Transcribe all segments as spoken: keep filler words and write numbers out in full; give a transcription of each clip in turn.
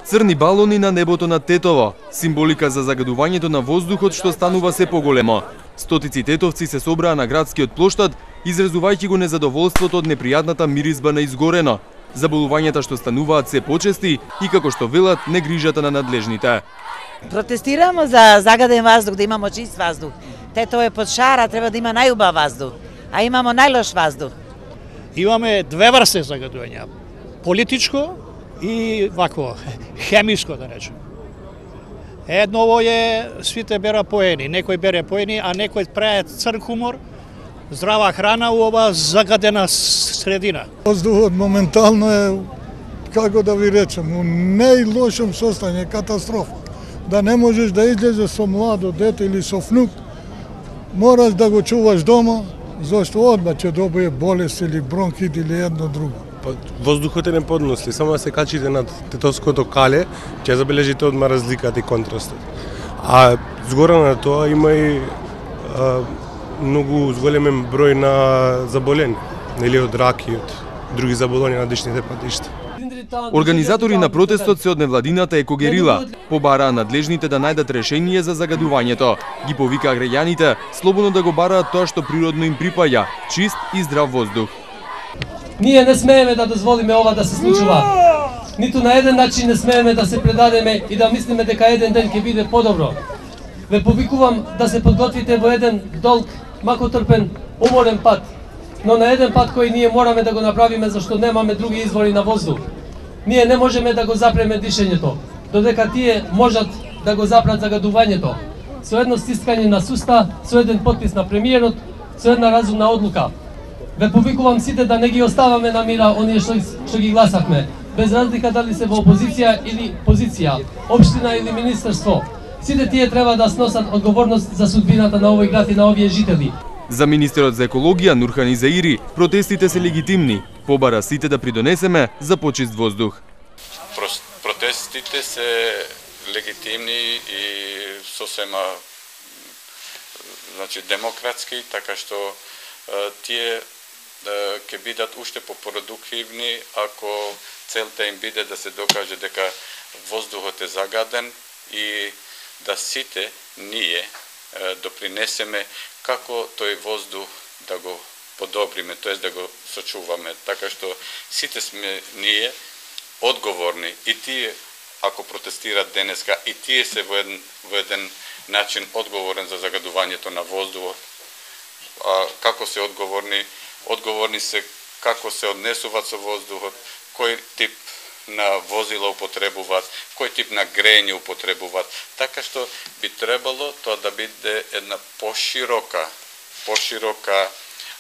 Црни балони на небото над Тетово, символика за загадувањето на воздухот што станува се поголемо. Стотици тетовци се собраа на градскиот плоштад, изразувајќи го незадоволството од непријатната миризба на изгорено, заболувањата што стануваат се почести и, како што велат, негрижата на надлежните. Протестираме за загаден воздух, да имамо чист воздух. Тетово е под шара, треба да има најубав воздух, а имамо најлош воздух. Имаме две врсти загадувања. Политичко и вакво, хемиско да речем. Едново е сите бера поени, некој бере поени, а некој прави црн хумор, здрава храна у ова загадена средина. Воздухот моментално е, како да ви речем, у најлошем состојање, катастрофа. Да не можеш да излезеш со младо дете или со внук, мораш да го чуваш дома, зашто одма ќе добие болест или бронхит или едно друго. Воздухот е неподносли, само да се качите над Тетовското кале, ќе забележите одма разликата и контрастот. А згора на тоа има и а, многу зголемен број на заболени, нели од рак и од други заболувања на дишните патишта. Организатори на протестот се од невладината Екогерила побараа надлежните да најдат решение за загадувањето. Ги повикаа граѓаните слободно да го бараат тоа што природно им припаѓа, чист и здрав воздух. Ние не смееме да дозволиме ова да се случува. Ниту на еден начин не смееме да се предадеме и да мислиме дека еден ден ќе биде подобро. Ве повикувам да се подготвите во еден долг, макотрпен, уморен пат, но на еден пат кој ние мораме да го направиме зашто немаме други извори на воздух. Ние не можеме да го запреме дишењето, додека тие можат да го запрат загадувањето. Со едно стискање на суста, со еден подпис на премиерот, со една разумна одлука. Ве повикувам сите да не ги оставаме на мира оние што, што ги гласавме, без разлика дали се во опозиција или позиција, општина или министерство. Сите тие треба да сносат одговорност за судбината на овој град и на овие жители. За министерот за екологија Нурхан Изаири, протестите се легитимни. Побара сите да придонесеме за почист воздух. Протестите се легитимни и сосема значи демократски, така што тие ќе бидат уште попродуктивни ако целта им биде да се докаже дека воздухот е загаден и да сите ние допринесеме како тој воздух да го подобриме, тоест да го сочуваме, така што сите сме ние одговорни и тие ако протестираат денеска и тие се во еден, во еден начин одговорен за загадувањето на воздухот. А како се одговорни? Одговорни се како се однесуваат со воздухот, кој тип на возила употребуваат, кој тип на грејење употребуваат, така што би требало тоа да биде една поширока, поширока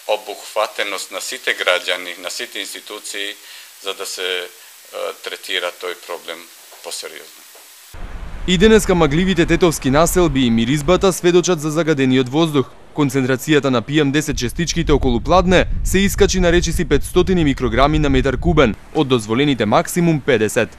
обухватеност на сите граѓани, на сите институции, за да се е, третира тој проблем посериозно. И денеска магливите тетовски населби и миризбата сведочат за загадениот воздух. Концентрацијата на пи ем десет честичките околу Пладне се искачи на речиси петстотини микрограми на метар кубен, од дозволените максимум педесет.